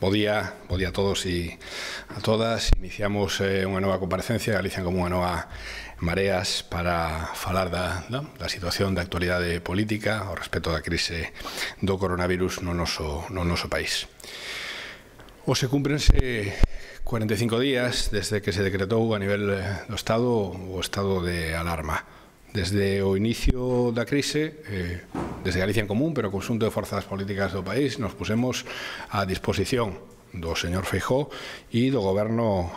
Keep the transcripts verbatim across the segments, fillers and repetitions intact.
Bo día, bo día a todos e a todas. Iniciamos eh, unha nova comparecencia, Galicia como unha nova Mareas, para falar da, da, da situación da actualidade política ao respecto da crise do coronavirus no noso, no noso país. Hoxe cúmprense cuarenta e cinco días desde que se decretou a nivel do Estado o estado de alarma. Desde o inicio da crise, eh, desde Galicia en Común, pero o conxunto de forzas políticas do país, nos pusemos a disposición do señor Feijóo e do Goberno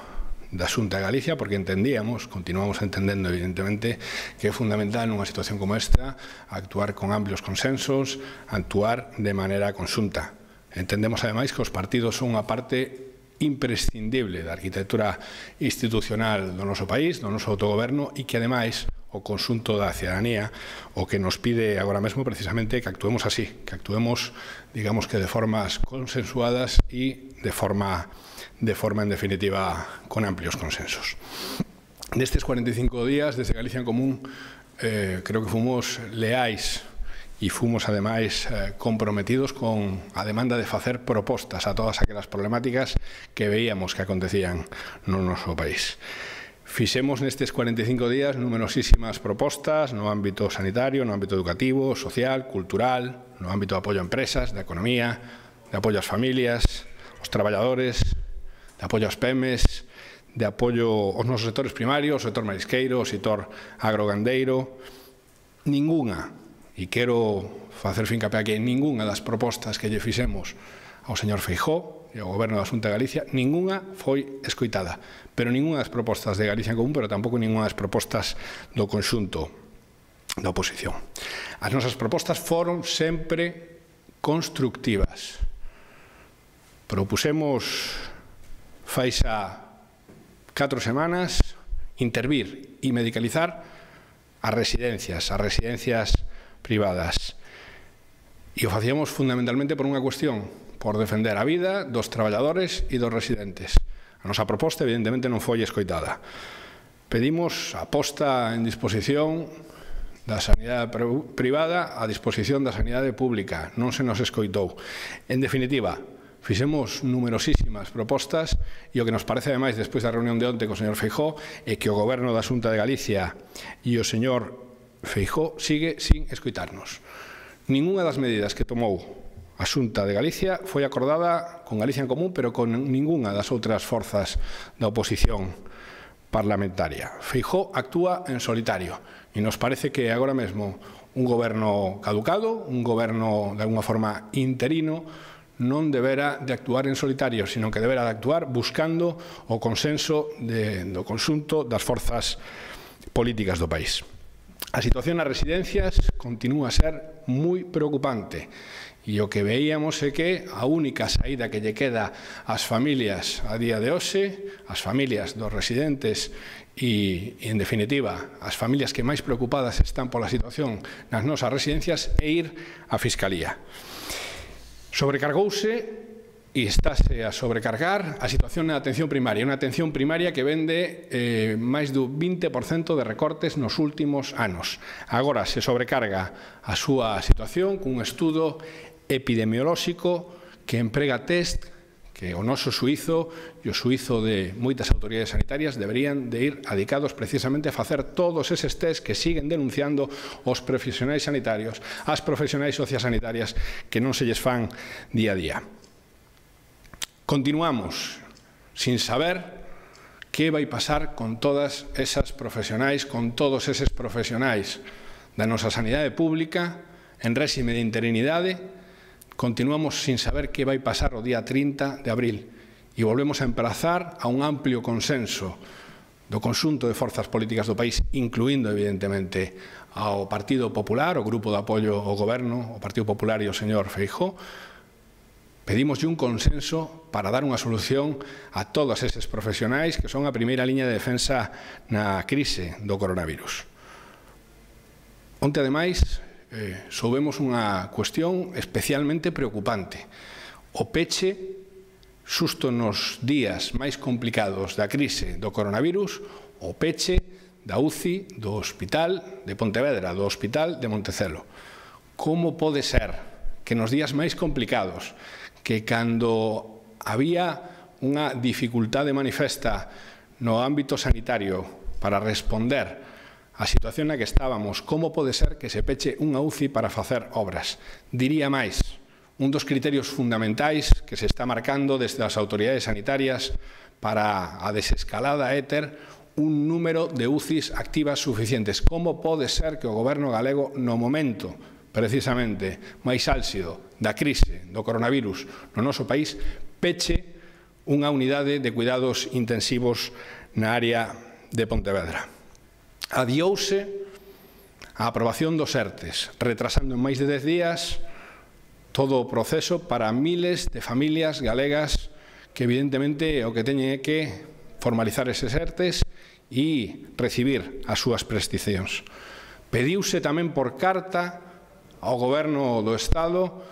da Xunta de Galicia, porque entendíamos, continuamos entendendo evidentemente, que é fundamental nunha situación como esta actuar con amplios consensos, actuar de maneira conxunta. Entendemos ademais que os partidos son unha parte imprescindible da arquitectura institucional do noso país, do noso autogoberno, e que ademais o conxunto da cidadanía o que nos pide agora mesmo precisamente que actuemos así, que actuemos, digamos que de formas consensuadas e de forma, de forma en definitiva, con amplios consensos. Nestes cuarenta e cinco días, desde Galicia en Común, eh, creo que fomos leais e fomos, ademais, eh, comprometidos con a demanda de facer propostas a todas aquelas problemáticas que veíamos que acontecían no noso país. Fixemos nestes cuarenta e cinco días numerosísimas propostas no ámbito sanitario, no ámbito educativo, social, cultural, no ámbito de apoio a empresas, de economía, de apoio ás familias, aos traballadores, de apoio ás pemes, de apoio aos nosos sectores primarios, o sector marisqueiro, o sector agrogandeiro. Ningunha, e quero facer fincapé aquí, ningunha das propostas que lle fixemos ao señor Feijóo e ao Goberno da Xunta de Galicia, ningunha foi escoitada. Pero ningunha das propostas de Galicia en Común, pero tampouco ningunha das propostas do conxunto da oposición. As nosas propostas foron sempre constructivas. Propusemos, fai xa catro semanas, intervir e medicalizar as residencias, as residencias privadas. E o facíamos fundamentalmente por unha cuestión, por defender a vida dos traballadores e dos residentes. A nosa proposta, evidentemente, non foi escoitada. Pedimos a posta en disposición da sanidade privada a disposición da sanidade pública. Non se nos escoitou. En definitiva, fixemos numerosísimas propostas e o que nos parece, ademais, despois da reunión de onte co señor Feijóo, é que o Goberno da Xunta de Galicia e o señor Feijóo sigue sin escoitarnos. Ningunha das medidas que tomou a Xunta de Galicia foi acordada con Galicia en Común, pero con ningunha das outras forzas da oposición parlamentaria. Feijóo actúa en solitario e nos parece que agora mesmo un goberno caducado, un goberno de alguna forma interino, non debera de actuar en solitario, sino que debera de actuar buscando o consenso de, do conxunto das forzas políticas do país. A situación nas residencias continúa a ser moi preocupante. E o que veíamos é que a única saída que lle queda ás familias a día de hoxe, as familias dos residentes e, en definitiva, as familias que máis preocupadas están pola situación nas nosas residencias, é ir á Fiscalía. Sobrecargouse e estáse a sobrecargar a situación na atención primaria, unha atención primaria que vende eh, máis do vinte por cento de recortes nos últimos anos. Agora se sobrecarga a súa situación cun estudo epidemiolóxico que emprega test que o noso suízo e o suízo de moitas autoridades sanitarias deberían de ir adicados precisamente a facer todos eses test que siguen denunciando os profesionais sanitarios, as profesionais sociosanitarias que non se lles fan día a día. Continuamos sin saber que vai pasar con todas esas profesionais, con todos eses profesionais da nosa sanidade pública en réxime de interinidade. Continuamos sin saber que vai pasar o día trinta de abril e volvemos a emprazar a un amplio consenso do conxunto de forzas políticas do país, incluindo, evidentemente, ao Partido Popular, o grupo de apoio ao Goberno, o Partido Popular e o señor Feijóo. Pedimos un consenso para dar unha solución a todos eses profesionais que son a primeira liña de defensa na crise do coronavirus. Onte, ademais, Eh, soubemos unha cuestión especialmente preocupante. O peche, xusto nos días máis complicados da crise do coronavirus, o peche da U C I do Hospital de Pontevedra, do Hospital de Montecelo. Como pode ser que nos días máis complicados, que cando había unha dificultade manifesta no ámbito sanitario para responder á situación na que estábamos. Como pode ser que se peche unha U C I para facer obras? Diría máis, un dos criterios fundamentais que se está marcando desde as autoridades sanitarias para a desescalada é ter un número de U C Is activas suficientes. Como pode ser que o Goberno galego, no momento precisamente máis álxido da crise do coronavirus no noso país, peche unha unidade de cuidados intensivos na área de Pontevedra? Adiouse a aprobación dos ERTES, retrasando en máis de dez días todo o proceso para miles de familias galegas que evidentemente o que teñen é que formalizar eses ERTES e recibir as súas prestacións. Pediuse tamén por carta ao Goberno do Estado,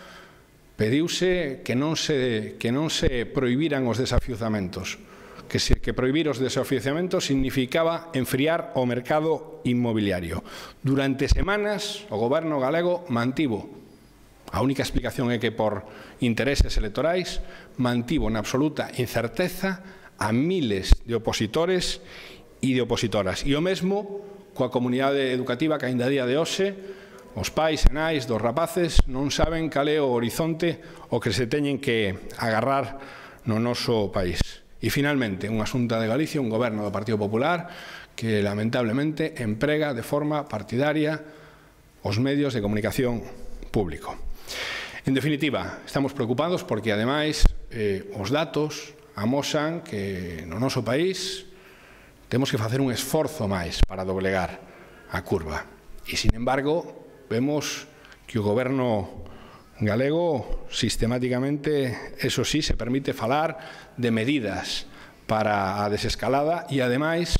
pediuse que non se, que non se prohibiran os desafiuzamentos, que, se, que prohibir os desafiuzamentos significaba enfriar o mercado inmobiliario. Durante semanas o Goberno galego mantivo, a única explicación é que por intereses electorais, mantivo na absoluta incerteza a miles de opositores e de opositoras. E o mesmo coa comunidade educativa que aínda a día de hoxe os pais e nais dos rapaces non saben cal é o horizonte o que se teñen que agarrar no noso país. E, finalmente, unha Xunta de Galicia, un goberno do Partido Popular que, lamentablemente, emprega de forma partidaria os medios de comunicación público. En definitiva, estamos preocupados porque, ademais, eh, os datos amosan que no noso país temos que facer un esforzo máis para doblegar a curva. E, sin embargo, vemos que o Goberno galego sistemáticamente, eso sí, se permite falar de medidas para a desescalada e, ademais,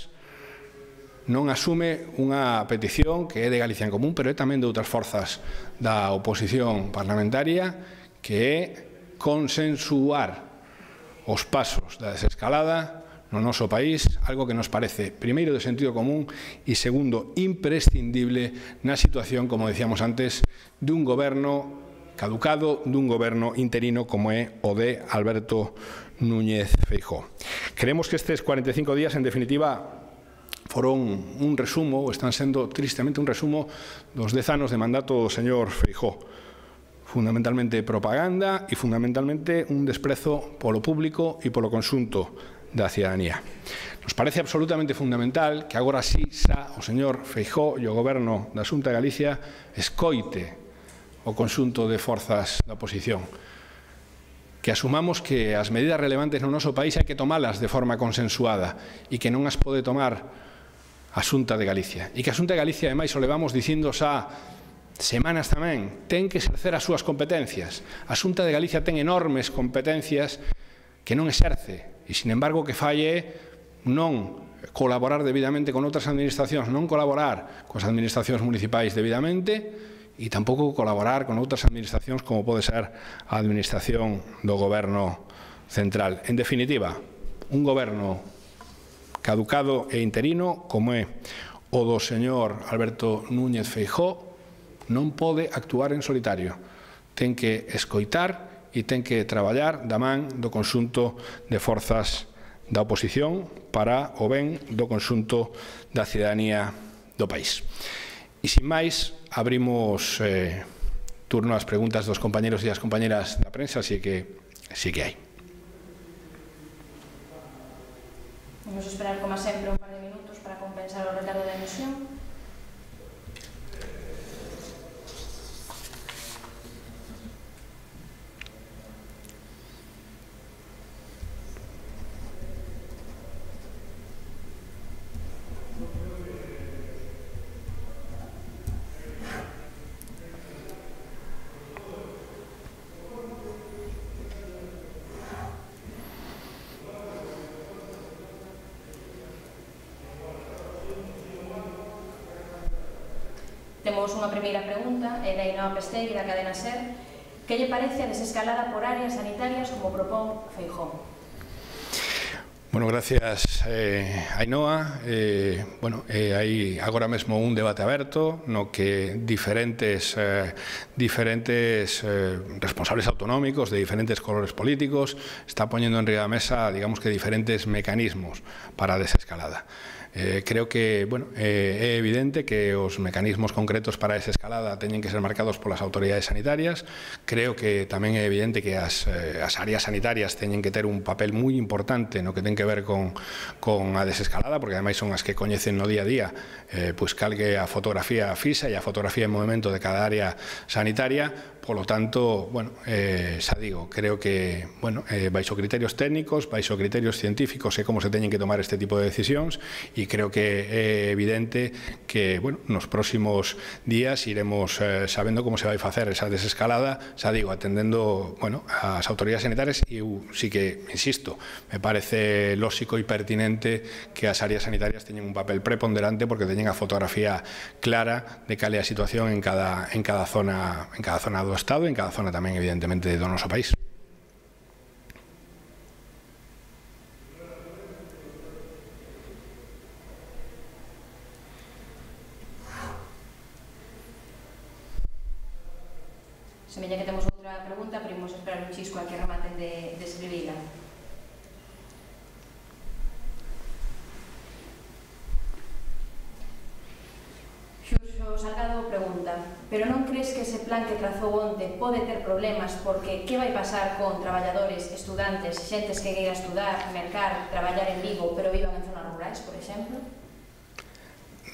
non asume unha petición que é de Galicia en Común, pero é tamén de outras forzas da oposición parlamentaria, que é consensuar os pasos da desescalada no noso país, algo que nos parece, primeiro, de sentido común e, segundo, imprescindible na situación, como decíamos antes, dun goberno caducado, dun goberno interino como é o de Alberto Núñez Feijóo. Creemos que estes cuarenta e cinco días, en definitiva, foron un resumo, ou están sendo tristemente un resumo dos dez anos de mandato do señor Feijóo. Fundamentalmente propaganda e fundamentalmente un desprezo polo público e polo conxunto da cidadanía. Nos parece absolutamente fundamental que agora sí xa o señor Feijóo e o Goberno da Xunta de Galicia escoite o conxunto de forzas da oposición, que asumamos que as medidas relevantes no noso país hai que tomalas de forma consensuada e que non as pode tomar a Xunta de Galicia. E que a Xunta de Galicia, ademais, o levamos dicindo xa semanas tamén, ten que exercer as súas competencias. A Xunta de Galicia ten enormes competencias que non exerce. E, sin embargo, que falle non colaborar debidamente con outras administracións, non colaborar coas administracións municipais debidamente e tampouco colaborar con outras administracións como pode ser a administración do Goberno central. En definitiva, un goberno caducado e interino como é o do señor Alberto Núñez Feijóo non pode actuar en solitario. Ten que escoitar e ten que traballar da man do conxunto de forzas da oposición para o ben do conxunto da cidadanía do país. E, sin máis, abrimos eh, turno ás preguntas dos compañeros e as compañeras da prensa, así que sí que hai. Vamos a esperar, como sempre, un par de minutos para compensar o retardo da emisión. Temos unha primeira pregunta, é da Ainhoa Pestegui, da cadena SER. Que lle parece a desescalada por áreas sanitarias como propón Feijóo? Bueno, gracias, eh, Ainhoa. Eh, bueno, eh, hai agora mesmo un debate aberto no que diferentes, eh, diferentes eh, responsables autonómicos de diferentes colores políticos está poñendo en riba da mesa, digamos que diferentes mecanismos para a desescalada. Eh, creo que bueno, eh, é evidente que os mecanismos concretos para esa escalada teñen que ser marcados polas autoridades sanitarias. Creo que tamén é evidente que as, eh, as áreas sanitarias teñen que ter un papel moi importante no que ten que ver con, con a desescalada, porque ademais son as que coñecen no día a día eh, pois calgue a fotografía fisa e a fotografía en movimento de cada área sanitaria. Polo tanto, bueno, eh, xa digo, creo que, bueno, eh, baixo criterios técnicos, baixo criterios científicos é como se teñen que tomar este tipo de decisións, e creo que é evidente que, bueno, nos próximos días iremos eh, sabendo como se vai facer esa desescalada, xa digo, atendendo, bueno, as autoridades sanitarias, e eu sí que, insisto, me parece lóxico e pertinente que as áreas sanitarias teñen un papel preponderante porque teñen a fotografía clara de cal é a situación en cada, en cada zona, en cada zona do Estado e en cada zona tamén, evidentemente, do noso país. Semella que temos outra pregunta, pero imos esperar un chisco a que rematen de, de escribila. Xurxo Salgado pregunta: pero non crees que ese plan que trazou onte pode ter problemas porque que vai pasar con traballadores, estudantes, xentes que queira estudar, mercar, traballar en Vigo, pero vivan en zonas rurais, por exemplo?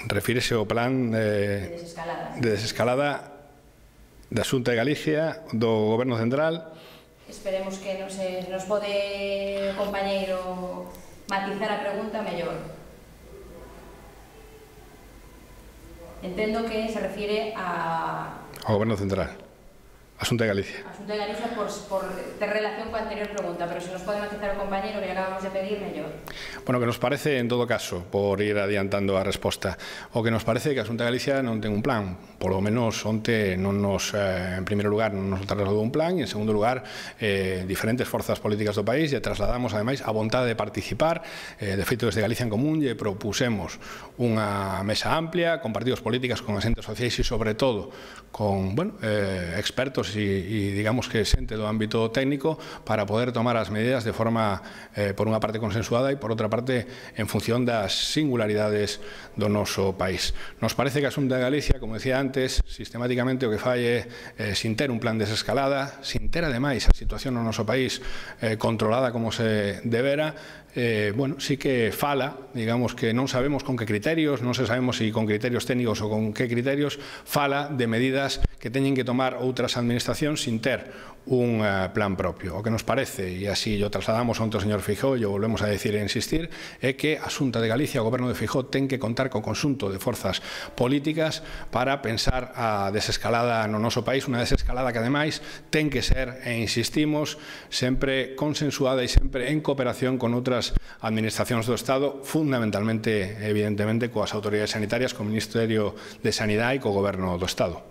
Refírese ao plan De eh, desescalada. de desescalada da Xunta de Galicia, do Goberno Central. Esperemos que nos, eh, nos pode o compañeiro matizar a pregunta mellor. Entendo que se refiere a... Ao Goberno Central, a Xunta de Galicia. A Xunta de Galicia por, por ter relación coa anterior pregunta, pero se nos pode matizar o compañeiro que acabamos de pedir, mellor. Bueno, que nos parece, en todo caso, por ir adiantando a resposta, o que nos parece que a Xunta de Galicia non ten un plan. Por lo menos onte non nos, eh, en primeiro lugar, non nos trasladou un plan, e en segundo lugar, eh, diferentes forzas políticas do país e trasladamos, ademais, a vontade de participar. Eh, de feito, desde Galicia en Común lle propusemos unha mesa amplia con partidos políticos, con asentes sociais e, sobre todo, con, bueno, eh, expertos e, e, digamos que xente do ámbito técnico para poder tomar as medidas de forma, eh, por unha parte, consensuada e, por outra parte, en función das singularidades do noso país. Nos parece que a Xunta de Galicia, como decía antes, sistemáticamente o que fai é, eh, sin ter un plan de desescalada, sin ter, ademais, a situación no noso país eh, controlada como se debera, eh, bueno, sí que fala, digamos que non sabemos con que criterios, non se sabemos se con criterios técnicos ou con que criterios, fala de medidas que teñen que tomar outras administracións sin ter un uh, plan propio. O que nos parece, e así o trasladamos onte ao señor Feijóo e o volvemos a decir e insistir, é que a Xunta de Galicia, o Goberno de Feijóo, ten que contar co conxunto de forzas políticas para pensar a desescalada no noso país, unha desescalada que ademais ten que ser, e insistimos, sempre consensuada e sempre en cooperación con outras administracións do Estado, fundamentalmente, evidentemente, coas autoridades sanitarias, co Ministerio de Sanidade e co Goberno do Estado.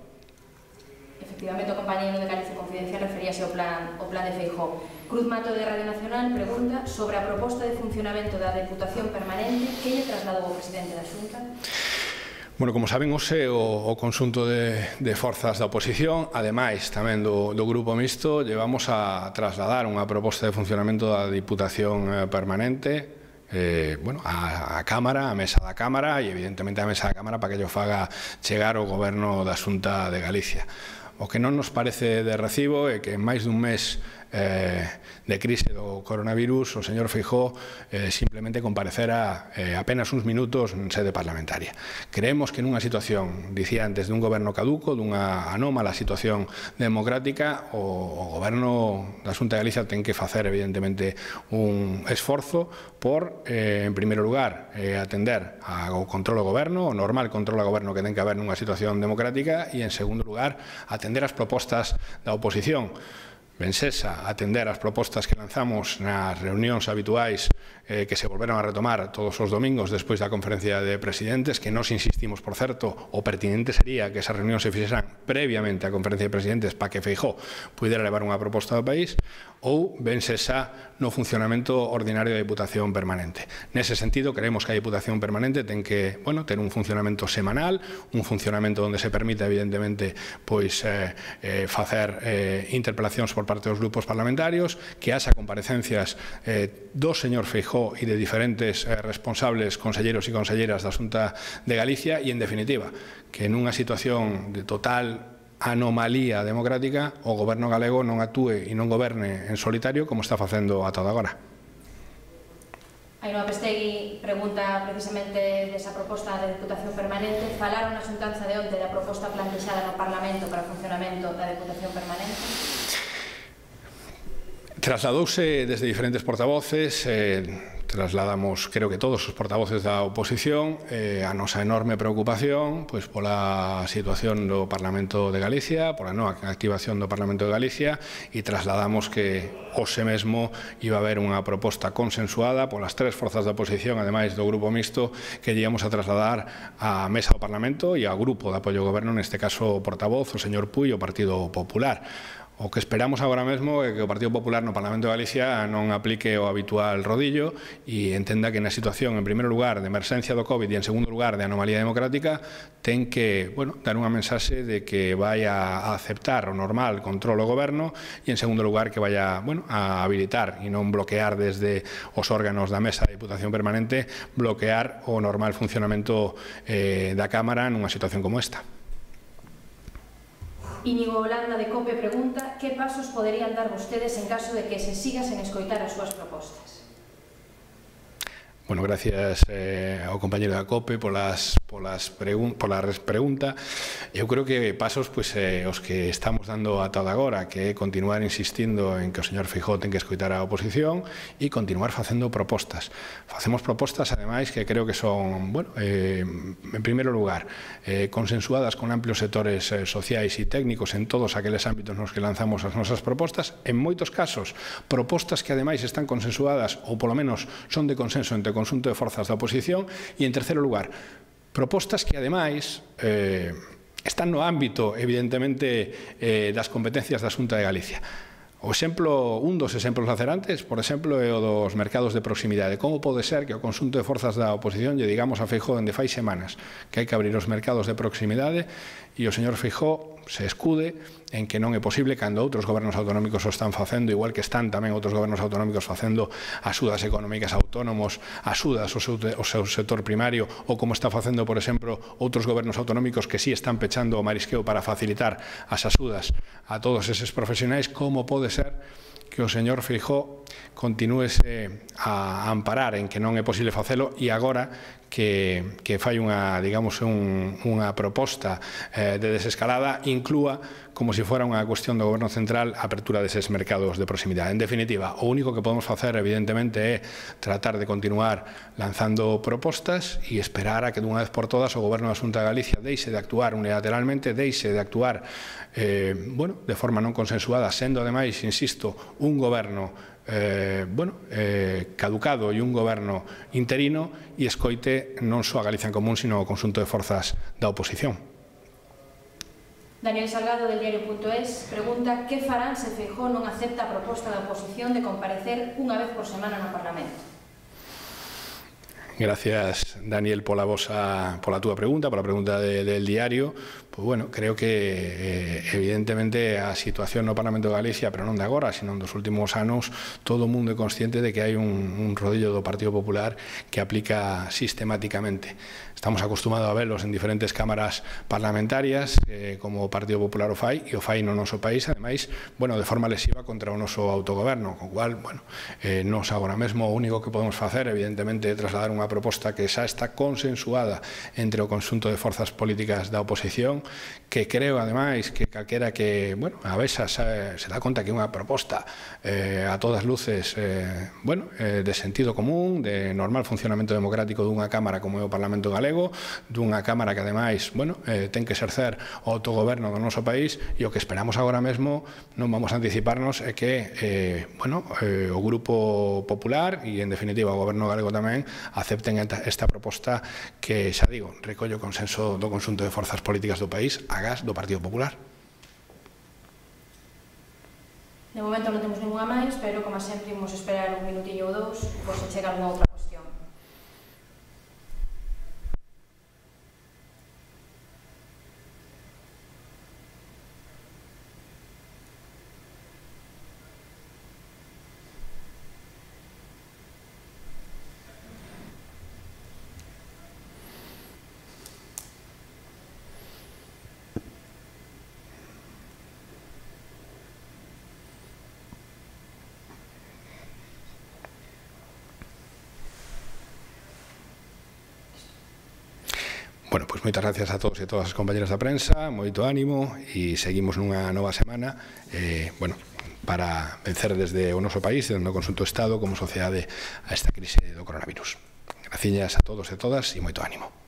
Efectivamente, o compañeiro de Galicia Confidencial referíase ao plan, ao plan de Feijóo. Cruz Mato de Radio Nacional pregunta sobre a proposta de funcionamento da Deputación Permanente que lle trasladou o presidente da Xunta. Bueno, como saben, hoxe o, o conxunto de, de forzas da oposición, ademais tamén do, do Grupo Mixto, llevamos a trasladar unha proposta de funcionamento da Diputación Permanente Eh, bueno, a, a Cámara, a mesa da Cámara e evidentemente a mesa da Cámara para que yo faga chegar o Goberno da Xunta de Galicia. O que non nos parece de recibo é que en máis dun mes eh, de crise do coronavirus o señor Feijóo eh, simplemente comparecera eh, apenas uns minutos en sede parlamentaria. Creemos que nunha situación, dicía antes, dun goberno caduco, dunha anómala situación democrática, o, o goberno da Xunta de Galicia ten que facer evidentemente un esforzo por, eh, en primeiro lugar, eh, atender ao control do goberno, o normal control do goberno que ten que haber nunha situación democrática, e en segundo lugar, atender as propostas da oposición. Vencesa atender as propostas que lanzamos nas reunións habituais eh, que se volveron a retomar todos os domingos despois da conferencia de presidentes, que nos insistimos, por certo, o pertinente sería que esas reunións se fixeran previamente á conferencia de presidentes para que Feijóo pudera levar unha proposta do país, ou Vencesa no funcionamento ordinario da Diputación Permanente. Nese sentido, creemos que a Diputación Permanente ten que, bueno, ter un funcionamento semanal, un funcionamento onde se permita, evidentemente, pois eh, eh, facer eh, interpelacións por parte dos grupos parlamentarios, que haxa comparecencias eh, do señor Feijóo e de diferentes eh, responsables, conselleros e conselleras da Xunta de Galicia, e, en definitiva, que nunha situación de total anomalía democrática o goberno galego non actúe e non goberne en solitario como está facendo ata agora. Ainhoa Pestegui pregunta precisamente desa proposta de Diputación Permanente. Falaron na xuntanza de onte da proposta plantexada no Parlamento para o funcionamento da Diputación Permanente? Trasladouse desde diferentes portavoces, eh, trasladamos, creo que todos os portavoces da oposición, eh, a nosa enorme preocupación pois, pola situación do Parlamento de Galicia, pola nova activación do Parlamento de Galicia, e trasladamos que hoxe mesmo iba a haber unha proposta consensuada polas tres forzas da oposición, ademais do Grupo Mixto, que íamos a trasladar á mesa do Parlamento e ao Grupo de Apoio ao Goberno, neste caso o portavoz, o señor Puy, o Partido Popular. O que esperamos agora mesmo é que o Partido Popular no Parlamento de Galicia non aplique o habitual rodillo e entenda que na situación, en primeiro lugar, de emerxencia do COVID e, en segundo lugar, de anomalía democrática, ten que, bueno, dar unha mensaxe de que vai a aceptar o normal control ao goberno e, en segundo lugar, que vai a, bueno, a habilitar e non bloquear desde os órganos da Mesa de Diputación Permanente, bloquear o normal funcionamento eh, da Cámara nunha situación como esta. Íñigo Holanda de COPE pregunta que pasos poderían dar vostedes en caso de que se siga sen escoitar as súas propostas. Bueno, gracias eh, ao compañero da COPE polas, polas pregun pola pregunta. Eu creo que pasos pois, eh, os que estamos dando ata agora, que é continuar insistindo en que o señor Feijóo ten que escoitar a oposición e continuar facendo propostas. Facemos propostas, ademais, que creo que son, bueno, eh, en primeiro lugar, eh, consensuadas con amplios sectores eh, sociais e técnicos en todos aqueles ámbitos nos que lanzamos as nosas propostas. En moitos casos, propostas que, ademais, están consensuadas ou, polo menos, son de consenso entre conxunto de forzas da oposición, e, en terceiro lugar, propostas que, ademais, eh, están no ámbito, evidentemente, eh, das competencias da Xunta de Galicia. O exemplo, un dos exemplos lacerantes, por exemplo, é o dos mercados de proximidade. Como pode ser que o conxunto de forzas da oposición lle digamos a Feijóo dende fai semanas que hai que abrir os mercados de proximidade e o señor Feijóo se escude en que non é posible cando outros gobernos autonómicos o están facendo, igual que están tamén outros gobernos autonómicos facendo axudas económicas a autónomos, axudas ao seu, ao seu sector primario, ou como está facendo, por exemplo, outros gobernos autonómicos que sí están pechando o marisqueo para facilitar as axudas a todos eses profesionais. Como pode ser que o señor Feijóo continúese a amparar en que non é posible facelo e agora que, que fai unha, digamos, un, unha proposta eh, de desescalada inclúa como se fora unha cuestión do goberno central a apertura deses mercados de proximidade. En definitiva, o único que podemos facer, evidentemente, é tratar de continuar lanzando propostas e esperar a que dunha vez por todas o goberno da Xunta de Galicia deixe de actuar unilateralmente, deixe de actuar eh, bueno, de forma non consensuada, sendo ademais, insisto, un goberno eh, bueno, eh, caducado e un goberno interino, e escoite non só a Galicia en Común, sino o conxunto de forzas da oposición. Daniel Salgado, del diario punto es, pregunta que farán se Feijóo non acepta a proposta da oposición de comparecer unha vez por semana no Parlamento. Gracias, Daniel, pola vosa, pola túa pregunta, pola pregunta de, del diario. Pois, bueno, creo que eh, evidentemente a situación no Parlamento de Galicia, pero non de agora, sino dos últimos anos, todo o mundo é consciente de que hai un, un rodillo do Partido Popular que aplica sistemáticamente. Estamos acostumados a verlos en diferentes cámaras parlamentarias, eh, como o Partido Popular o fai, e o fai no noso país, ademais, bueno, de forma lesiva contra o noso autogoberno, con cual, bueno, eh, nos agora mesmo o único que podemos facer, evidentemente, é trasladar unha unha proposta que xa está consensuada entre o conxunto de forzas políticas da oposición, que creo, ademais, que calquera que, bueno, a veces se, se dá conta que é unha proposta eh, a todas luces eh, bueno, eh, de sentido común, de normal funcionamento democrático dunha Cámara como é o Parlamento Galego, dunha Cámara que, ademais, bueno, eh, ten que exercer o autogoberno do noso país, e o que esperamos agora mesmo, non vamos a anticiparnos, é que eh, bueno, eh, o Grupo Popular e, en definitiva, o Goberno galego tamén acepten esta proposta que, xa digo, recolle o consenso do conxunto de forzas políticas do país agás do Partido Popular. De momento non temos ninguna máis, pero, como sempre, imos esperar un minutillo ou dous por se chega algunha outra cuestión. Bueno, pois moitas gracias a todos e a todas as compañeras da prensa, moito ánimo e seguimos nunha nova semana eh, bueno, para vencer desde o noso país, desde o conxunto do Estado como sociedade a esta crise do coronavirus. Graciñas a todos e todas e moito ánimo.